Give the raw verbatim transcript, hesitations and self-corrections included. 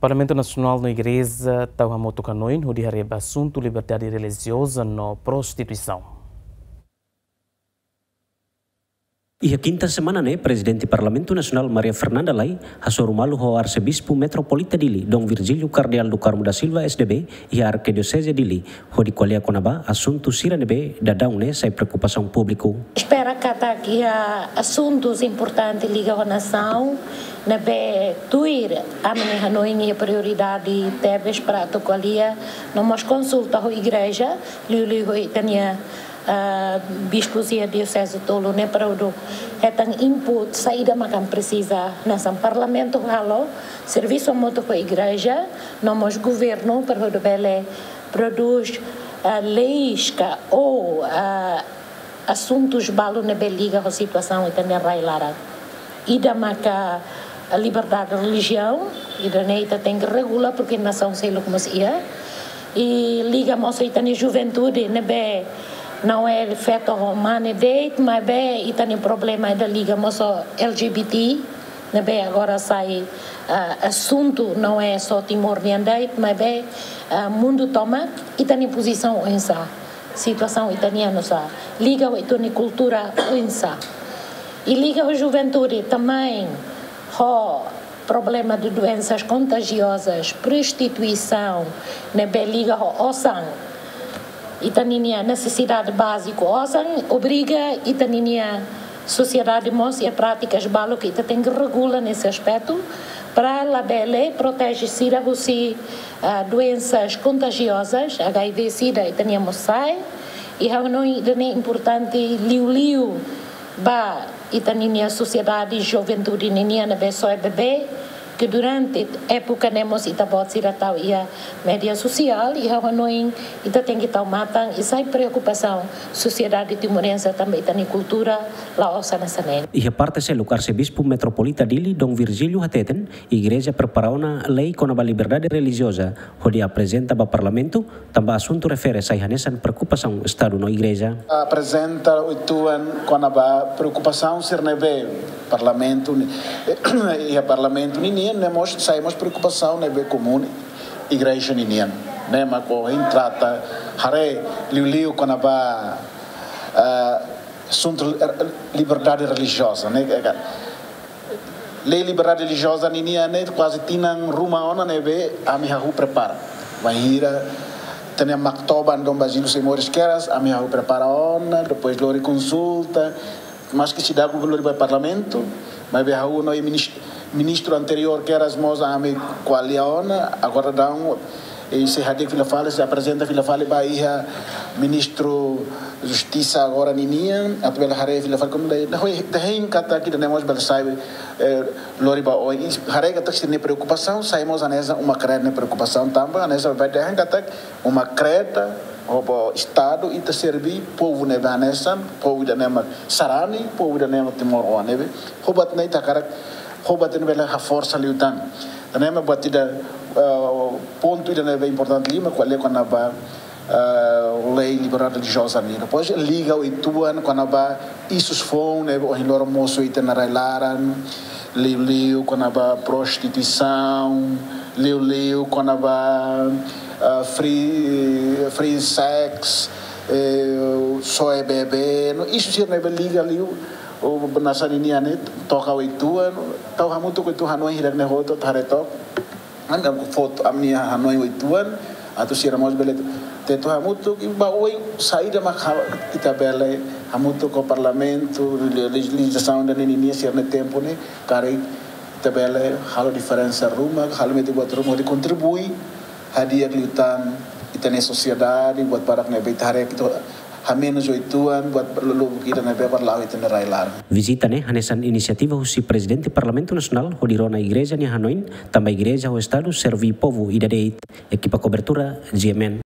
Parlamentu Nasionál no Igreja tau hamutuk hanoin hodi haree ba asuntu liberdade relijioza no prostituisaun. Iha kinta semana ne'e, Prezidente Parlamentu Nasionál Maria Fernanda Lay hasoru malu ho Arsebispu Metropolita Dili, Dom Virgílio Kardeál do Carmo da Silva, S D B, iha Arkidioseze Dili, hodi ko'alia kona-ba asuntu sira ne'ebé daudaun ne'e sai preokupasaun públiku. Espera katak iha asuntus importante liga ho nasaun ne'ebé tuir ami-nia hanoin iha prioridade tebes para atu ko'alia, no mós konsulta ho igreja, liuliu ho ita-nia, ah, bispus iha dioseze tolu ne'e para hodi hetan input saida mak ami presiza. Hanesan Parlamentu halo servisu hamutuk ho igreja, no mós governu para hodi bele prodús, ah, leis ka ou, ah, asuntus balu ne'ebé liga ho situasaun ita-nia rai-laran. Ida maka liberdade relijiaun, ida-ne'e ita tenke regula, porque nasaun seluk mós iha. I liga mós ho ita-nia juventude ne'ebé não é feto ho mane de'it, maibé ita-nia problema ida liga mós ho L G B T, ne'ebé agora sai, ah, asuntu, não é só Timor nian de'it, maibé, ah, mundu tomak, ita-nia pozisaun oinsá. Situasaun ita-nian oinsá. Liga ho ita-nia kultura oinsá. I liga ho juventude também, ho problema de doenças contagiosas, prostituisaun, ne'ebé liga ho osan. Ita-ninia nesesidade báziku osan, obriga ita-ninia sosiedade mós iha prátikas balu ke ita tenke regula nesse aspecto, para labele proteje sira husi, ah, doenças contagiosas, H I V, sida, ita-nia mós sai, i ha'u hanoin ida-ne'e importante liuliu ba ita-ninia sosiedade, juventude ninian ne'ebé soe bebé, ke durante époka ne'e mós ita-boot sira tau iha média sosiál, i ha'u hanoin ita tenke tau matan, i sai preokupasaun sosiedade timorense tanba ita-nia kultura la'ós hanesan ne'e. Iha parte seluk, Arsebispu Metropolita Dili, Dom Virgílio, hateten, igreja prepara ona lei kona-ba liberdade relijioza, hodi aprezenta ba Parlamentu, tanba asuntu refere sai hanesan preokupasaun Estadu no igreja. Aprezenta uitoan kona-ba preokupasaun sira ne'ebé Parlamentu ni-, iha Parlamentu ninian, ne'e mós sai mós preokupasaun ne'ebé komún igreja ninian. Ne'e mak ohin trata haree liuliu kona-ba, ah, asuntu, eh, liberdade relijioza, ne'e, eh, lei liberdade relijioza ninian ne'e kuaze tinan ruma ona ne'ebé ami hahú prepara. Bainhira ita-nia Maktoban Dom Basílio Seixas Moris keras, ami hahú prepara ona, depois lori konsulta, maske seidauk lori ba Parlamentu, maibé ha'u no minis-, ministru anteriór keras mós ami ko'alia ona, agora daudaun, i sei hadi'a fila fali, sei aprezenta fila fali ba iha Ministru Justisa agora ninian, atu bele haree fila fali komu dai, dahoi, dahein katak ida-ne'e mós bele sai, eh, lori ba oin, i haree katak sira-nia preokupasaun sai mós hanesan uma kreda nia preokupasaun tanba, hanesan bele dahein katak uma kreda, ho ba Estadu ita serví povu ne'ebé hanesan, povu ida-ne'e mak sarani, povu ida-ne'e mak timoroan ne'ebé, ho buat ne'e ita hakarak, ho buat ne'e bele haforsa liután. Tan ne'e mak buat ida, eh, pontu ida ne'ebé importante liu mak ko'alia kona-ba, eh, lei liberdade relijioza nian. Depois liga uitoan kona-ba isus foun ne'ebé ohin loron mosu iha ita-nia rai-laran, liuliu kona-ba prostituisaun, liuliu kona-ba, eh, free, free sex, eh, soe bebé, no isu sira ne'ebé liga liu, o benasa ninian ne'e toka uitoan, tau hamutuk uitoan hanoin hirak-ne'e hotu, tare tok. Anda foto ami-nia hanoin uitoan, atu sira mós bele tetu hamutuk, i ba oin saida mak ha-, ita bele hamutuk ho Parlamentu, le-, lejizlasaun ida-ne'e ninia sira-nia tempu ne'e, karik ita bele halo diferensa ruma, halo metin buat ruma hodi kontribui hadi'a liután ita-nia sosiedade, buat barak ne'ebé ita haree katak hamenus uitoan, buat lubuk ida ne'ebé bele la'o ita-nia rai-laran. Vizita ne'e hanesan inisiativa husi Prezidente Parlamentu Nasionál hodi rona igreja nia hanoin, tanba igreja ho Estadu serví povu ida de'it. Ekipa kobertura, G M N.